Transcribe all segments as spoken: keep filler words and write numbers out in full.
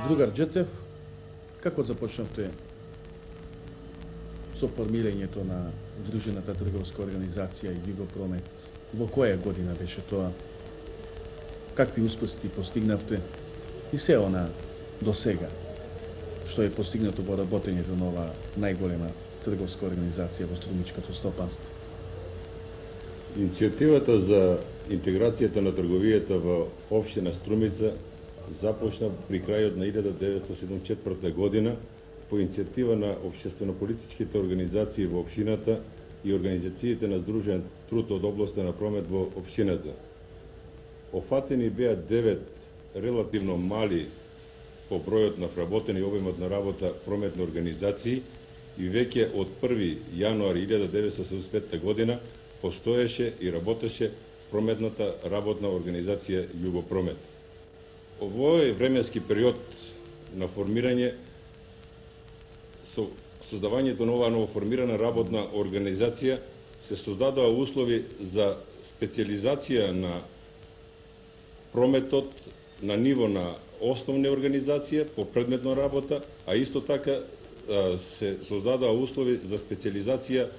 Другар Джетев, како започнавте со формирањето на Удружената трговска организација Југопромет? Во која година беше тоа? Какви успеси постигнавте? И се она до сега, што е постигнато во работењето на ова најголема трговска организација во струмичкото стопанство? Иницијативата за интеграцијата на трговијата во општина Струмица започна при крајот на илјада деветстотини седумдесет и четврта година по иницијатива на општествено-политичките организации во општината и организациите на Сдружен труд од областа на промет во општината. Офатени беа девет релативно мали по бројот на вработени и обемот на работа прометни организации и веќе од први јануари илјада деветстотини седумдесет и петта година постоеше и работеше прометната работна организација Југопромет. Овој временски период на формирање, со создавањето на оваа новоформирана работна организација, се создадоа услови за специализација на прометот на ниво на основна организација по предметна работа, а исто така се создадоа услови за специализација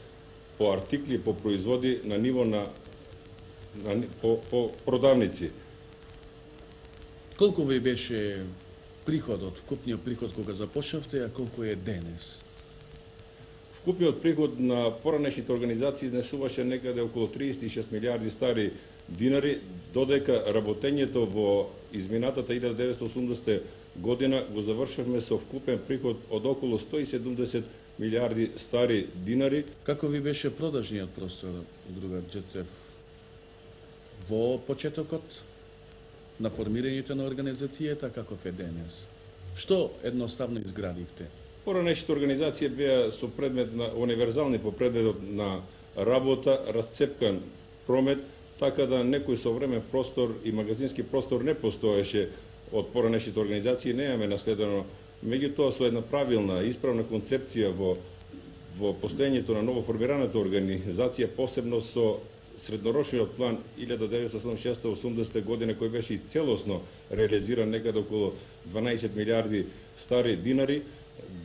по артикли, по производи на ниво на, на по, по продавници. Колку ви беше приходот, вкупниот приход кога започнавте, а колку е денес? Вкупниот приход на поранешните организации изнесуваше некаде околу триесет и шест милиарди стари динари, додека работењето во изминатата илјада деветстотини и осумдесета година го завршавме со вкупен приход од околу сто и седумдесет милиарди стари динари. Како ви беше продажниот простор, другар Джетев, во почетокот на формирањето на организацијата, каков е денес? Што едноставно изградивте? Поранешните организации беа со предмет на универзални по предметот на работа, расцепкан промет, така да некој современ простор и магазински простор не постоеше од поранешните организации, немаме наследено. Меѓутоа, со една правилна, исправна концепција во, во постоењето на новоформираната организација, посебно со среднорочниот план илјада деветстотини седумдесет и шеста до осумдесета година, кој беше и целосно реализиран некаде околу дванаесет милиарди стари динари,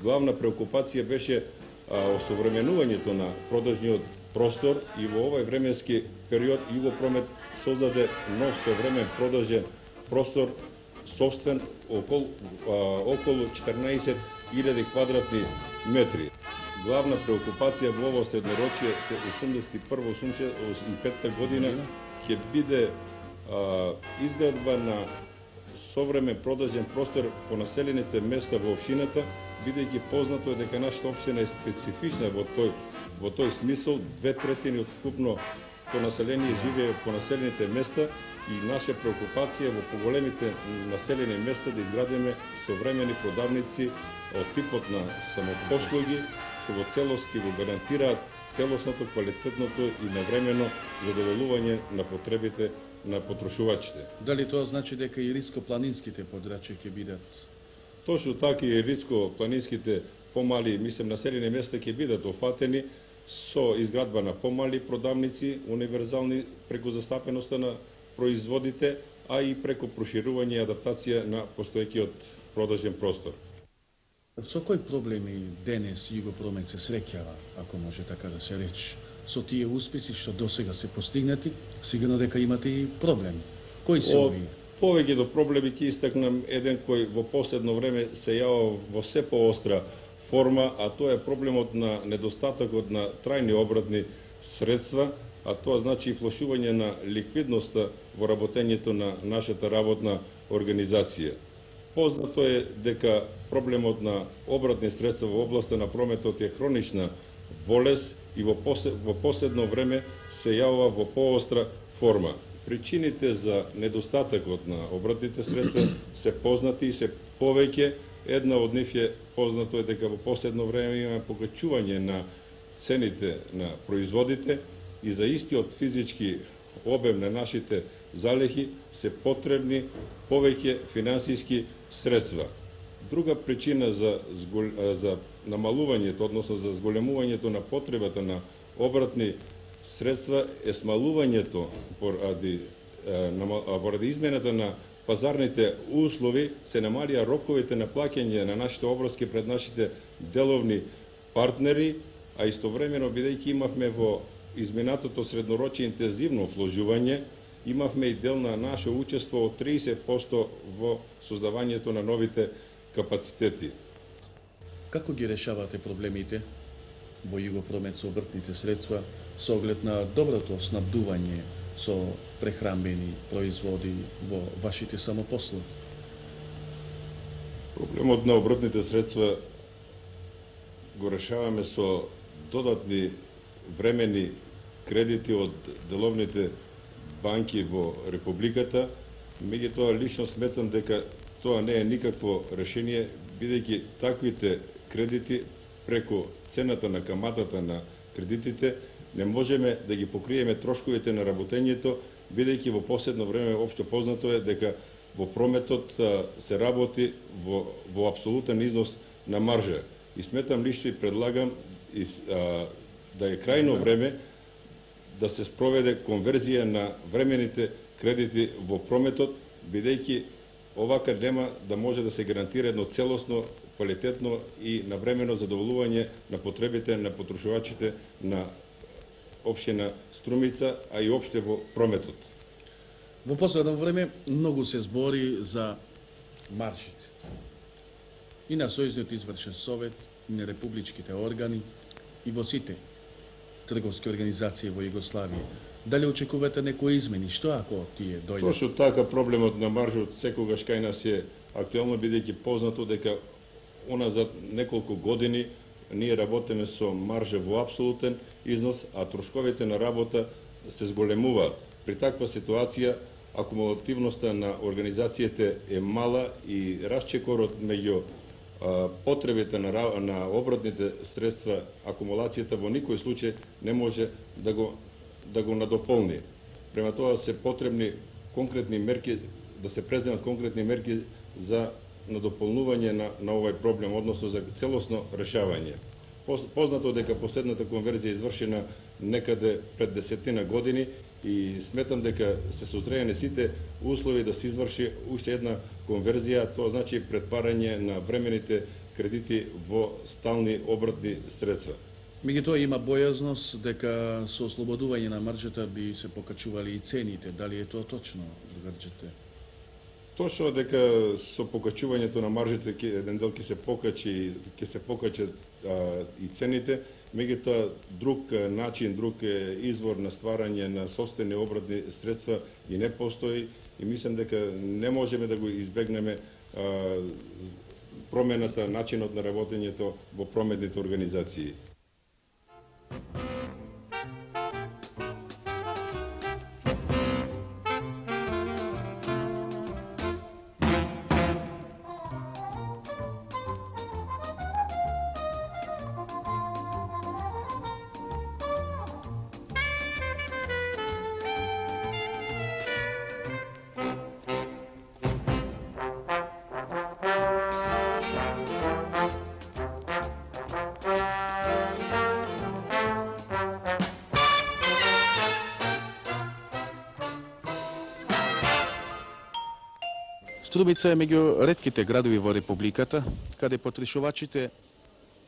главна преокупација беше а, осовременувањето на продажниот простор и во овој временски период Југопромет создаде нов современ продажен простор, собствен околу, а, околу четрнаесет илјади квадратни метри. Главна преокупација во ово среднорочие се осумдесет и прва до осумдесет и петта година ќе биде а, изградба на современ продажен простор по населените места во општината, бидејќи познато е дека нашата општина е специфична во тој во тој смисол. Две третини од вкупното население живее по населените места и наша преокупација во поголемите населени места да изградиме современи продавници од типот на самопослуги, што во целост ќе го гарантираат целосното, квалитетното и навремено задоволување на потребите на потрошувачите. Дали тоа значи дека и риско-планинските подрачја ќе бидат? Точно така и риско-планинските помали, мислам, населени места ќе бидат офатени со изградба на помали продавници, универзални преку застапеноста на производите, а и преку проширување и адаптација на постоеќиот продажен простор. Со кои проблеми денес Југопромет се среќава, ако може така да се рече, со тие успеси што досега се постигнати? Сигурно дека имате и проблем. Кои се овие? Повеќе до проблеми ќе истакнам еден кој во последно време се јава во се поостра форма, а тоа е проблемот на недостатокот на трајни обратни средства, а тоа значи и влошување на ликвидноста во работењето на нашата работна организација. Познато е дека проблемот на обратни средства во областа на прометот е хронична болест и во, послед, во последно време се јавува во поостра форма. Причините за недостатокот на обратните средства се познати и се повеќе. Една од нив е познато е дека во последно време имаме покачување на цените на производите и за истиот физички обем на нашите залихи се потребни повеќе финансиски средства. Друга причина за, за намалувањето, односно за зголемувањето на потребата на обратни средства е смалувањето поради, поради измената на пазарните услови, се намалија роковите на плаќање на нашите обврски пред нашите деловни партнери, а истовремено бидејќи имавме во изминатото среднорочие интензивно вложување, имавме и дел на наше учество од триесет проценти во создавањето на новите капацитети. Како ги решавате проблемите во Југопромет со обртните средства со оглед на доброто снабдување со прехранбени производи во вашите самопослови? Проблемот на обртните средства го решаваме со додатни времени кредити од деловните банки во Републиката, меѓутоа лично сметам дека тоа не е никакво решение, бидејќи таквите кредити преку цената на каматата на кредитите не можеме да ги покриеме трошковите на работењето, бидејќи во последно време општо познато е дека во прометот се работи во, во апсолутен износ на маржа. И сметам лично и предлагам и, а, да е крајно време да се спроведе конверзија на времените кредити во прометот, бидејќи овака нема да може да се гарантира едно целосно, квалитетно и навремено задоволување на потребите на потрошувачите на општина Струмица, а и опште во прометот. Во последно време многу се збори за маржите. И на Сојузниот извршен совет, и на републичките органи, и во сите трговски организации во Југославија. Дали очекувате некои измени? Што ако тие дојдат? Точно така, проблемот на маржот секогаш кај нас е актуелно, бидејќи познато дека уназад неколку години ние работиме со маржа во апсолутен износ, а трошковите на работа се зголемуваат. При таква ситуација акумулативноста на организацијите е мала и расчекорот меѓу потребите на, на обртните средства, акумулацијата во никој случај не може да го, да го надополни. Према тоа се потребни конкретни мерки, да се преземат конкретни мерки за надополнување на, на овој проблем, односно за целосно решавање. Познато дека последната конверзија е извршена некаде пред десетина години и сметам дека се созреени сите услови да се изврши уште една конверзија, тоа значи претварање на времените кредити во стални обртни средства. Меѓутоа има бојазност дека со ослободување на маржата би се покачували и цените. Дали е тоа точно, другарчете? Точно дека со покачувањето на маржите еден дел ќе се покачи, ќе се покачат а, и цените, меѓутоа друг начин, друг извор на стварање на сопствени обртни средства и не постои и мислам дека не можеме да го избегнеме а, промената, начинот на работењето во прометните организации. Струмица е меѓу ретките градови во Републиката, каде потрошувачите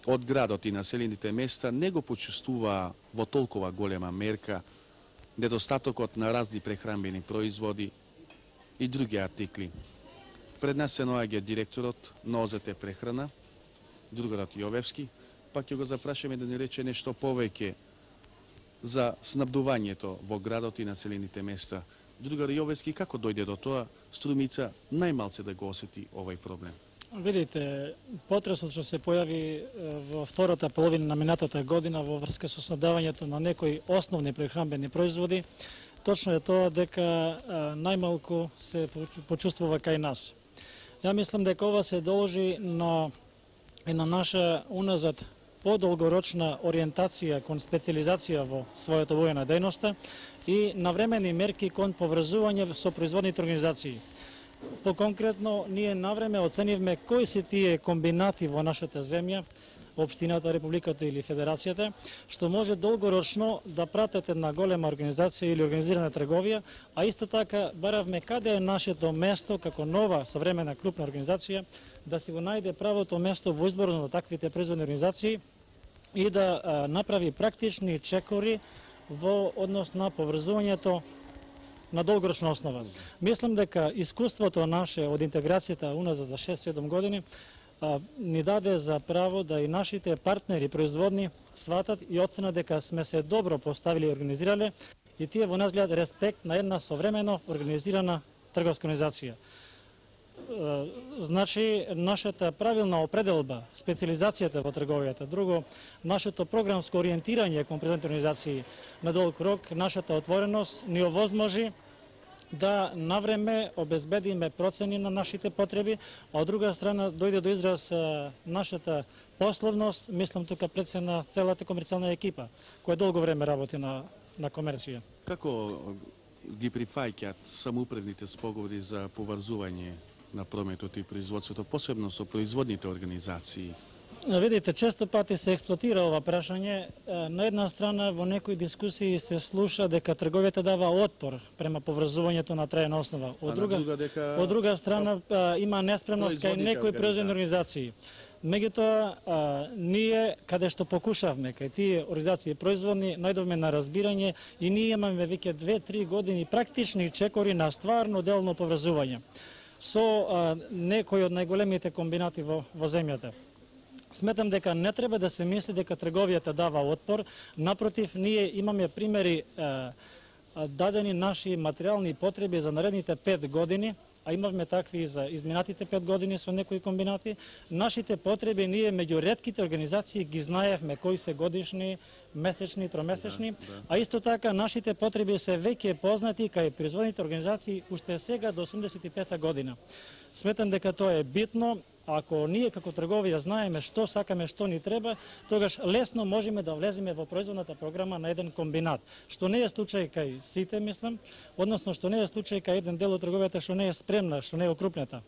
од градот и населените места не го почувствуваа во толкова голема мерка недостатокот на разни прехранбени производи и други артикли. Пред нас се наоѓа директорот на О З Т Прехрана, другарот Јовевски, па ќе го запрашаме да ни рече нешто повеќе за снабдувањето во градот и населените места. Другар Јовевски, како дојде до тоа Струмица најмалце да го осети овој проблем? Видите, потресот што се појави во втората половина на минатата година во врска со снабдавањето на некои основни прехранбени производи, точно е тоа дека најмалку се почувствува кај нас. Ја мислам дека ова се должи на една наша уназад подолгорочна ориентација кон специализација во својата војна дејноста и навремени мерки кон поврзување со производните организации. Поконкретно, ние навреме оценивме кои се тие комбинати во нашата земја, општината, републиката или федерацијата, што може долгорочно да пратат една голема организација или организирана трговија, а исто така баравме каде е нашето место како нова современа крупна организација да си го најде правото место во изборот на таквите производни организации и да а, направи практични чекори во однос на поврзувањето на долгорочна основа. Мислам дека искуството наше од интеграцијата уназад за шест-седум години а, ни даде за право да и нашите партнери производни сватат и оценат дека сме се добро поставили и организирале и тие во нас гледат респект на една современо организирана трговска организација. Значи, нашата правилна определба, специализацијата во трговијата, друго, нашето програмско ориентирање кон производните организации на долг рок, нашата отвореност ни овозможи да навреме обезбедиме процени на нашите потреби, а од друга страна дојде до израз нашата пословност, мислам тука пред се на целата комерцијална екипа, која долго време работи на, на комерција. Како ги прифаќаат самоуправните споговори за поврзување на прометот и производството, посебно со производните организации? Видите, често пати се експлоатира ова прашање. На една страна, во некои дискусии се слуша дека трговијата дава отпор према поврзувањето на трајна основа. Од друга, друга, дека... од друга страна, има неспремност кај некои производни организации. Меѓутоа, ние, каде што покушавме, кај тие организации производни, најдовме на разбирање и ние имаме веќе две-три години практични чекори на стварно делно поврзување со а, некои од најголемите комбинати во, во земјата. Сметам дека не треба да се мисли дека трговијата дава отпор, напротив, ние имаме примери а, а, дадени наши материјални потреби за наредните пет години, а имавме такви за изминатите пет години со некои комбинати. Нашите потреби ние меѓу ретките организации ги знаевме кои се годишни, месечни, тромесечни, да, да. А исто така нашите потреби се веќе познати кај производните организации уште сега до осумдесет и пета година. Сметам дека тоа е битно. Ако ние како трговија знаеме што сакаме, што ни треба, тогаш лесно можеме да влеземе во производната програма на еден комбинат, што не е случај кај сите, мислам, односно што не е случај кај еден дел од трговијата што не е спремна, што не е окрупнета.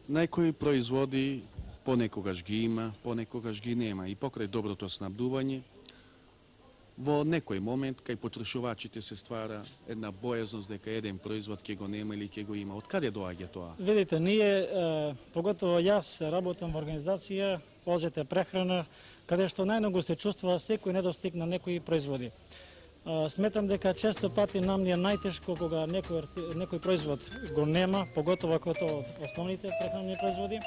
Најкои производи понекогаш ги има, понекогаш ги нема и покрај доброто снабдување, во некој момент кај потрошувачите се ствара една бојазност дека еден производ ќе го нема или ќе го има. Од каде доаѓа тоа? Видите, ние, е, поготово јас работам во организација О З Т прехрана, каде што најмногу се чувствува секој недостиг на некои производи. Е, сметам дека често пати нам ни е најтешко кога некој, некој производ го нема, поготово ако тоа од основните прехранни производи.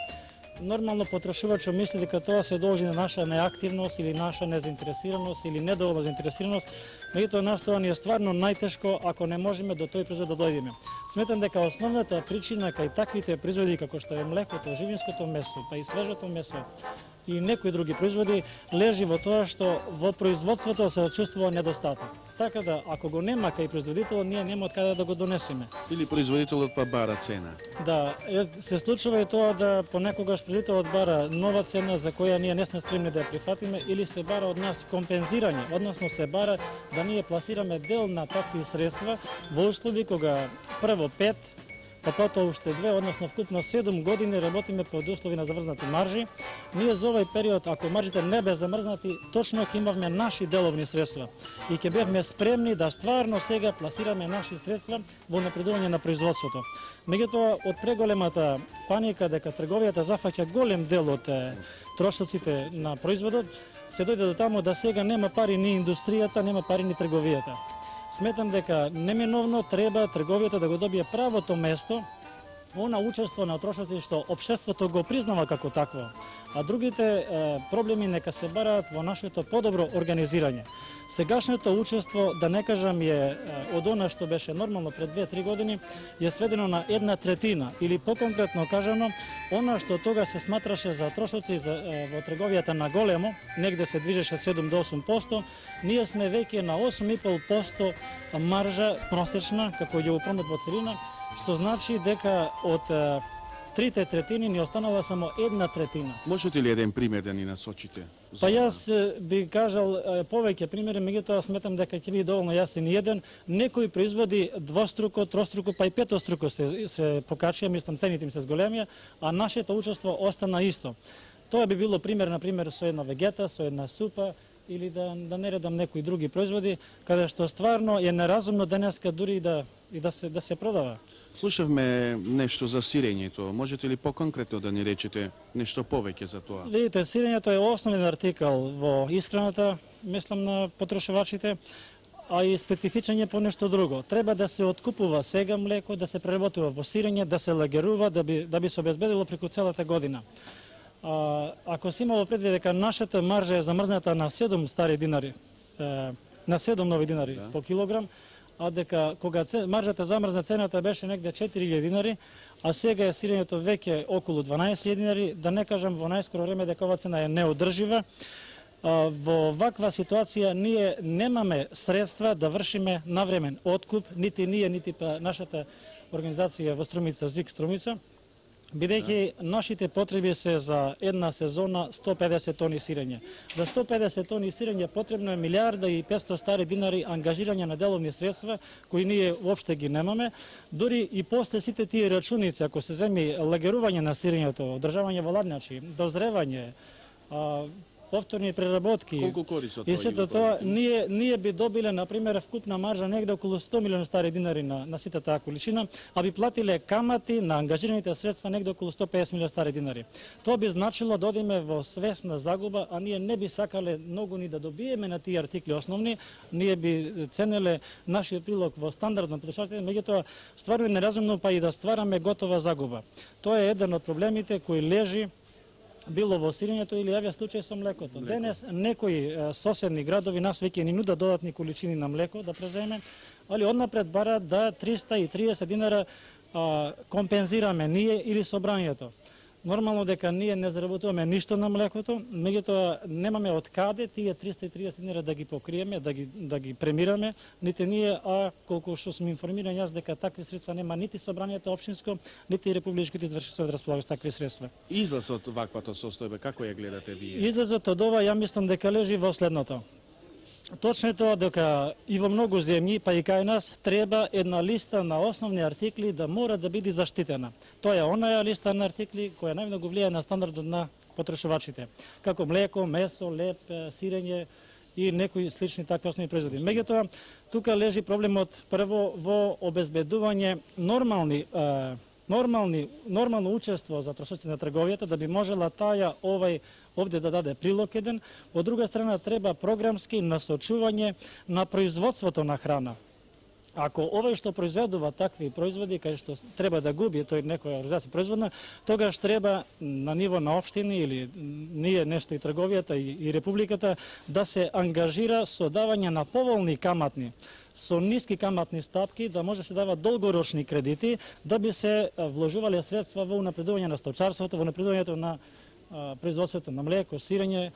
Нормално потрошувачот мисли дека тоа се должи на наша неактивност или наша незаинтересираност или недоволна заинтересираност, меѓутоа нас тоа ни е стварно најтешко ако не можеме до тој производ да дојдеме. Сметам дека основната причина кај таквите производи како што е млекото, живинското месо, па и свежото месо и некои други производи лежи во тоа што во производството се чувствува недостаток. Така да ако го нема кај производителот, ние нема од каде да го донесеме. Или производителот па бара цена. Да, се случува и тоа да понекогаш производителот бара нова цена за која ние не сме спремни да ја прифатиме или се бара од нас компензирање, односно се бара да ние пласираме дел на такви средства во услови кога прво пет, па потоа уште две, односно вкупно седум години работиме под услови на заврзнати маржи. Ние за овој период, ако маржите не бе замрзнати, точно ќе имавме наши деловни средства и ќе бевме спремни да стварно сега пласираме наши средства во напредување на производството. Меѓутоа, од преголемата паника дека трговијата зафаќа голем дел од трошоците на производот, се дојде до таму да сега нема пари ни индустријата, нема пари ни трговијата. Сметам дека неминовно треба трговијата да го добие правото место, она учество на трошоци што општеството го признава како такво, а другите е, проблеми нека се бараат во нашето подобро организирање. Сегашното учество, да не кажам, е од она што беше нормално пред две-три години, е сведено на една третина, или поконкретно кажано, она што тога се сматраше за трошоци за, е, во трговијата на големо, негде се движеше седум до осум проценти, ние сме веќе на осум и пол проценти маржа просечна, како ја промет во целина, што значи дека од е, трите третини ни останала само една третина. Можете ли еден пример да ни насочите? Па јас би кажал е, повеќе примери, меѓутоа сметам дека ќе биде доволно јасен еден. Некои производи двоструко, троструко, па и петоструко се, се покачија, мислам цените им се зголемија, а нашето учество остана исто. Тоа би било пример, на пример, со една вегета, со една супа, или да, да не редам некои други производи, каде што стварно е неразумно денеска дури и да, и да, се, да се продава. Слушавме нешто за сирењето. Можете ли поконкретно да ни речете нешто повеќе за тоа? Видите, сирењето е основен артикал во исхраната, мислам на потрошувачите, а и специфичен е по нешто друго. Треба да се откупува сега млеко, да се преработува во сирење, да се лагерува, да би, да би се обезбедило преку целата година. А, ако се имало предвид дека нашата маржа е замрзната на седум стари динари, е, на седум нови динари да. по килограм, а дека кога маржата замрзна цената беше негде четири илјади динари, а сега е сирењето веќе околу дванаесет илјади динари, да не кажам во најскоро време дека ова цена е неодржива. А, во ваква ситуација ние немаме средства да вршиме навремен откуп, нити ние, нити па нашата организација во Струмица, ЗИК Струмица, бидејќи да. нашите потреби се за една сезона сто и педесет тони сирење. За сто и педесет тони сирење потребно е милијарда и петстотини стари динари ангажирање на деловни средства, кои ние уопште ги немаме. Дури и после сите тие рачуници, ако се земи лагерување на сирењето, одржавање во ладњачи, дозревање, а, повторни преработки. Колку користи и сето тоа, ние, ние би добиле, например, вкупна маржа негде околу сто милиони стари динари на, на сите таа количина, а би платиле камати на ангажираните средства негде околу сто и педесет милиони стари динари. Тоа би значило да одиме во свесна загуба, а ние не би сакале многу ни да добиеме на тие артикли основни, ние би ценеле нашиот прилог во стандард на потрошачите, меѓутоа стварно е неразумно па и да ствараме готова загуба. Тоа е еден од проблемите кои лежи било во сирењето или јавија случај со млекото. Млеко. Денес некои соседни градови нас веќе ни нудат додатни количини на млеко да преземе, али однапред бараат да триста и триесет динара а, компензираме ние или собранието. Нормално дека ние не заработуваме ништо на млекото, меѓутоа немаме од каде тие триста и триесет динара да ги покриеме, да ги да ги премираме, нити ние, а колку што сум информиран јас дека такви средства нема нити собранието општинско, нити републичките извршители да располагаат со такви средства. Излазот од ваквата состојба, како ја гледате вие? Излазот од ова ја мислам дека лежи во следното. Точно е тоа дека и во многу земји, па и кај нас, треба една листа на основни артикли да мора да биде заштитена. Тоа е онаја листа на артикли која најмногу влијае на стандардот на потрошувачите, како млеко, месо, леп, сирење и некои слични такви основни производи. Меѓутоа, тука лежи проблемот прво во обезбедување нормални нормални нормално учество за трошоците на трговијата, да би можела таја овај овде да даде прилог еден. Од друга страна треба програмски насочување на производството на храна. Ако овој што произведува такви производи, кај што треба да губи тој некоја организација производна, тогаш треба на ниво на општини или ние нешто и трговијата и, и републиката да се ангажира со давање на поволни каматни, со ниски каматни стапки, да може да се дават долгорочни кредити, да би се вложувале средства во унапредување на сточарството, во унапредувањето на а, производството на млеко, сирење.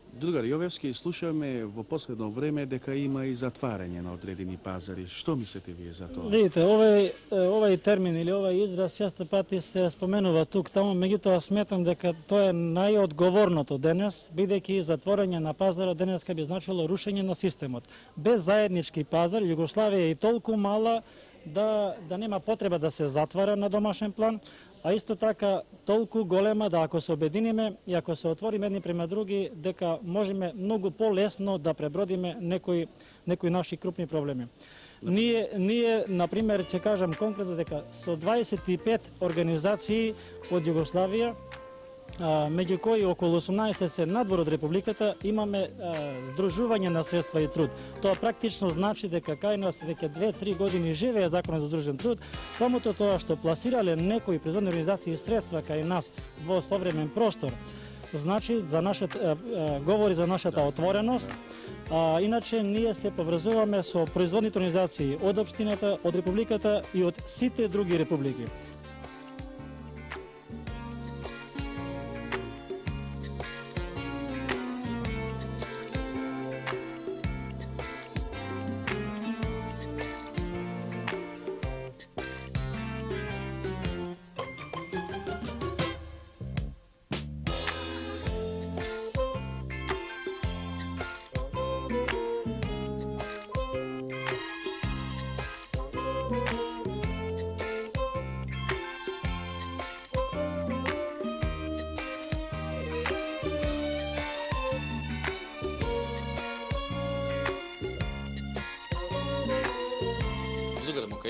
Другар Јовевски, слушаме во последно време дека има и затварање на одредени пазари. Што мислите вие за тоа? Видите, овој, овој термин или овој израз често пати се споменува тук таму, меѓутоа сметам дека тоа е најодговорното денес, бидејќи затворање на пазарот денеска би значило рушење на системот. Без заеднички пазар, Југославија е и толку мала да, да нема потреба да се затвара на домашен план, а исто така толку голема да ако се обединиме и ако се отвориме едни према други, дека можеме многу полесно да пребродиме некои, некои наши крупни проблеми. Ние, ние, например, ќе кажам конкретно дека со дваесет и пет организации од Југославија, меѓу кои околу осумнаесет се надвор од Републиката, имаме здружување на средства и труд. Тоа практично значи дека кај нас веќе две-три години живее законот за здружен труд. Самото тоа што пласирале некои производни организации средства кај нас во современ простор, значи за нашата, говори за нашата отвореност. А, иначе ние се поврзуваме со производните организации од општината, од Републиката и од сите други републики.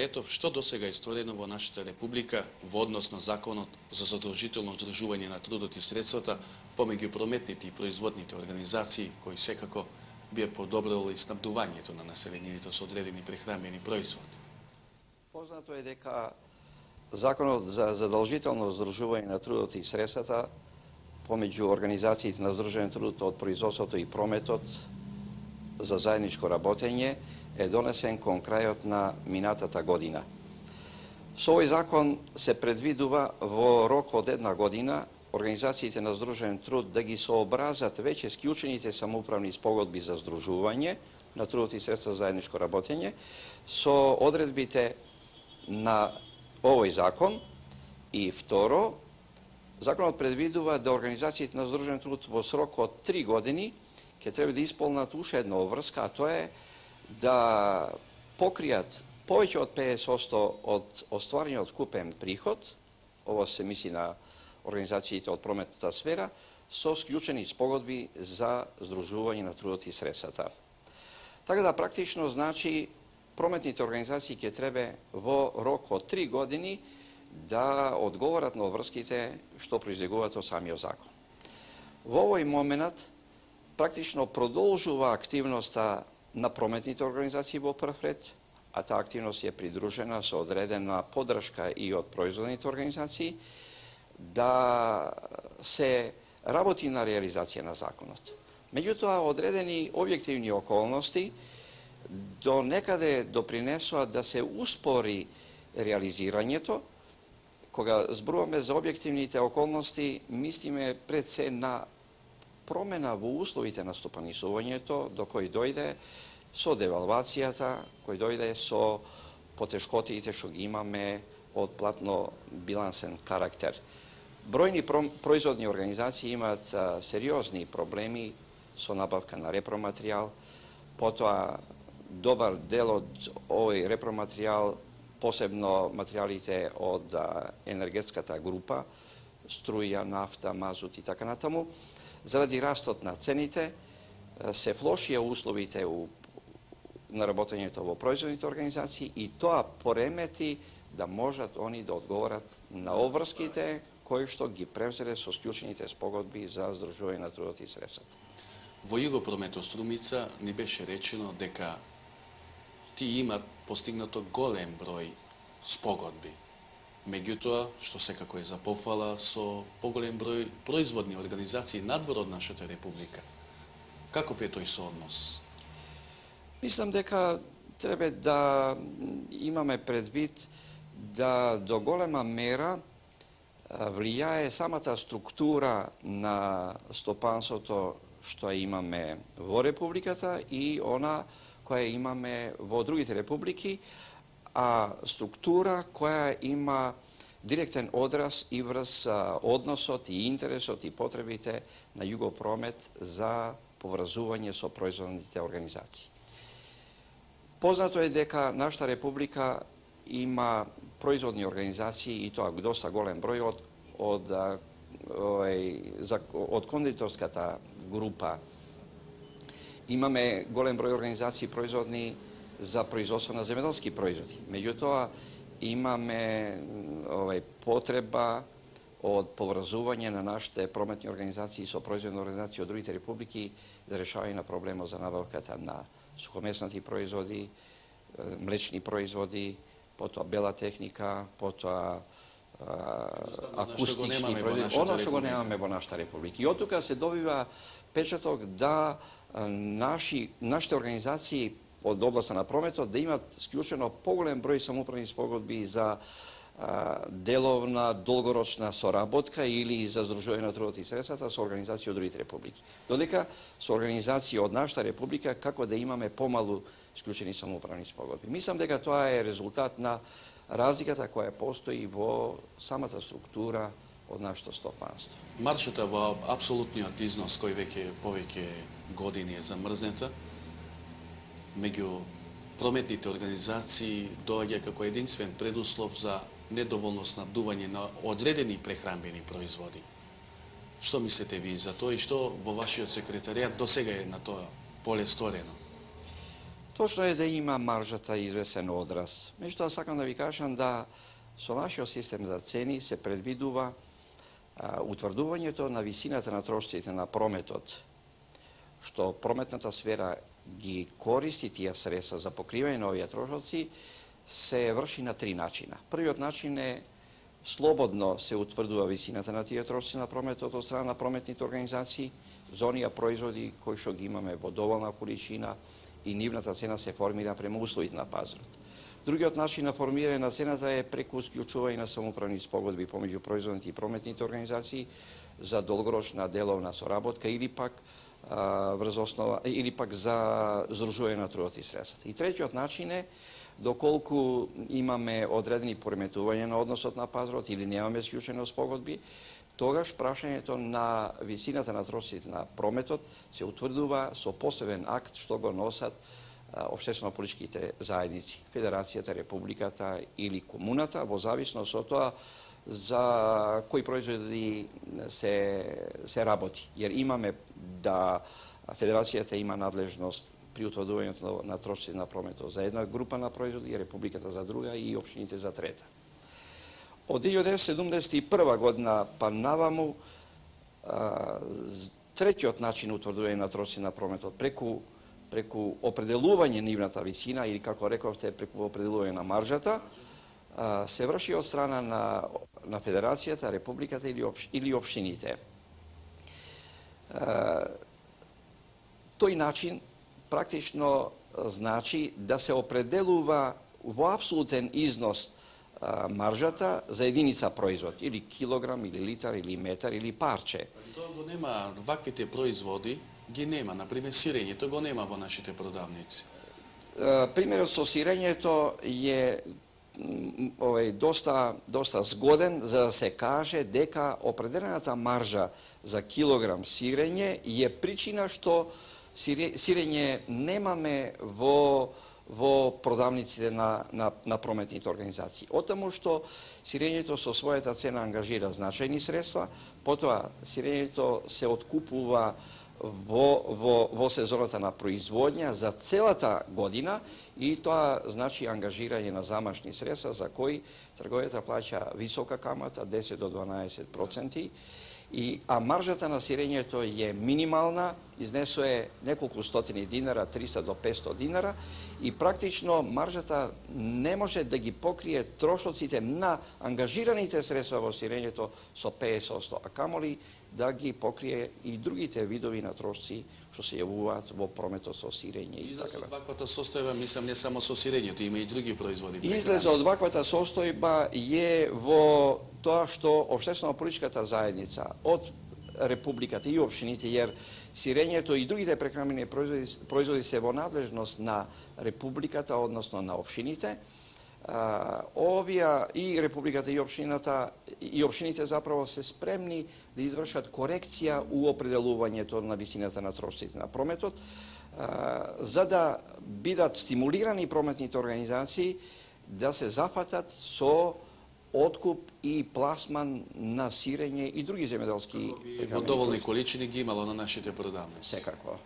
секретов што досега е створено во нашата република во однос на законот за задолжително здружување на трудот и средствата помеѓу прометните и производните организации кои секако би подобрило и снабдувањето на населението со одредени прехранбени производи. Познато е дека Законот за задолжително здружување на трудот и средствата помеѓу организациите на здружен труд од производството и прометот за заедничко работење е донесен кон крајот на минатата година. Со овој закон се предвидува во рок од една година организациите на здружен труд да ги сообразат веќе склучените самоуправни спогодби за здружување на трудот и средства за заедничко работење со одредбите на овој закон. И второ, законот предвидува да организациите на здружен труд во срок од три години ќе треба да исполнат уште една обврска, а тоа е да покријат повеќе од педесет одсто од остварениот купен приход, ово се мисли на организациите од прометната сфера, со склучени спогодби за здружување на трудот и средствата. Така да практично значи прометните организации ќе треба во рок од три години да одговорат на обврските што произлегуваат од самиот закон. Во овој момент практично продолжува активноста на прометните организации во прв ред, а таа активност е придружена со одредена поддршка и од производните организации, да се работи на реализација на законот. Меѓутоа, одредени објективни околности до некаде допринесува да се успори реализирањето. Кога зборуваме за објективните околности, мислиме пред се на промена во условите на стопанисувањето, до кој дојде со девалвацијата, кој дојде со потешкотиите што ги имаме од платно-билансен карактер. Бројни производни организации имаат сериозни проблеми со набавка на репроматеријал, потоа добар дел од овој репроматеријал, посебно материјалите од енергетската група, струја, нафта, мазут и така натаму, заради растот на цените, се влошија условите на работењето во производните организации и тоа поремети да можат они да одговорат на обврските кои што ги превзеле со склучените спогодби за здружување на трудот и средствата. Во Југопромет Струмица ни беше речено дека ти имат постигнато голем број спогодби. Меѓутоа, што секако е за пофала, со поголем број производни организации надвор од нашата република. Каков е тој сооднос? Мислам дека треба да имаме предвид да до голема мера влијае самата структура на стопанството што имаме во републиката и она која имаме во другите републики, а структура која има директен одраз и врз односот и интересот и потребите на Југопромет за поврзување со производните организации. Познато е дека нашата република има производни организации и тоа доста голем број од од од, од кондиторската група. Имаме голем број организации производни за производство на земјоделски производи. Меѓутоа, имаме овај потреба од поврзување на нашите прометни организации со производни организации од другите републики за решавање на проблемот за набавката на сухомеснати производи, млечни производи, потоа бела техника, потоа акустични производи, оно што го немаме во нашата република. И од тука се добива печаток да наши, нашите организации од областа на прометот да имат склучено поголем број самоуправни спогодби за а, деловна, долгорочна соработка или за здружување на трудот и средствата со организации од другите републики. Додека со организации од нашата република како да имаме помалу склучени самоуправни спогодби. Мислам дека тоа е резултат на разликата која постои во самата структура од нашето стопанство. Маршата во апсолутниот износ кој веќе повеќе години е замрзнета меѓу прометните организации доаѓа како единствен предуслов за недоволно снабдување на одредени прехранбени производи. Што мислите ви за тоа и што во вашиот секретаријат досега е на тоа поле сторено? Точно е да има маржата извесен одраз. Меѓутоа сакам да ви кажам да со нашиот систем за цени се предвидува а, утврдувањето на висината на трошоците на прометот, што прометната сфера ги користи тие средства за покривање на овие трошоци, се врши на три начина. Првиот начин е слободно се утврдува висината на тие трошоци на прометот од страна на прометните организации за оние производи кои што ги имаме во доволна количина и нивната цена се формира према условите на пазарот. Другиот начин на формирање на цената е преку склучување на самоуправни спогодби помеѓу производните и прометните организации за долгорочна деловна соработка или пак а, врз основа или пак за здружување на трудот и средствата. И третиот начин е доколку имаме одредени пореметувања на односот на пазарот или немаме склучени спогодби, тогаш прашањето на висината на трошоците на прометот се утврдува со посебен акт што го носат општествено-политичките заедници, Федерацијата, Републиката или комуната, во зависност од тоа за кои производи се, се работи. Jer имаме да Федерацијата има надлежност при утврдувањето на трошоците на прометот за една група на производи, Републиката за друга и општините за трета. Од деветнаесетте седумдесет и прва година па наваму, третиот начин утврдување на трошоци на прометот преку преку определување нивната висина или како рековте преку определување на маржата се врши од страна на на Федерацијата, Републиката или опш, или општините. Тој начин практично значи да се определува во апсолутен износ маржата за единица производ, или килограм, или литар, или метар, или парче. Тоа го нема, ваквите производи ги нема, например сирењето го нема во нашите продавници. Примерот со сирењето е овој доста доста згоден за да се каже дека определената маржа за килограм сирење е причина што сирење немаме во во продавниците на, на, на прометните организации. Отаму што сирењето со својата цена ангажира значајни средства, потоа сирењето се откупува во, во, во сезоната на производња за целата година и тоа значи ангажирање на замашни средства за кои трговецот плаќа висока камата, десет до дванаесет проценти, и, а маржата на сирењето е минимална, изнесува неколку стотини динара, триста до петстотини динара, и практично маржата не може да ги покрие трошоците на ангажираните средства во сирењето со петдесет одсто, а камоли да ги покрие и другите видови на трошци што се јавуваат во прометот со сирење и така. Излез од ваквата состојба, мислам, не само со сирењето, има и други производи. Излез од ваквата состојба е во тоа што општествено-политичката заедница од Републиката и општините, jer сирењето и другите прехранбени производи, производи се во надлежност на Републиката, односно на општините. Овие и Републиката и општината и општините заправо се спремни да извршат корекција у определувањето на висината на трошоците на прометот, за да бидат стимулирани прометните организации да се зафатат со откуп и пласман на сирење и други земјоделски во доволни количини ги имало на нашите продавници. Секако.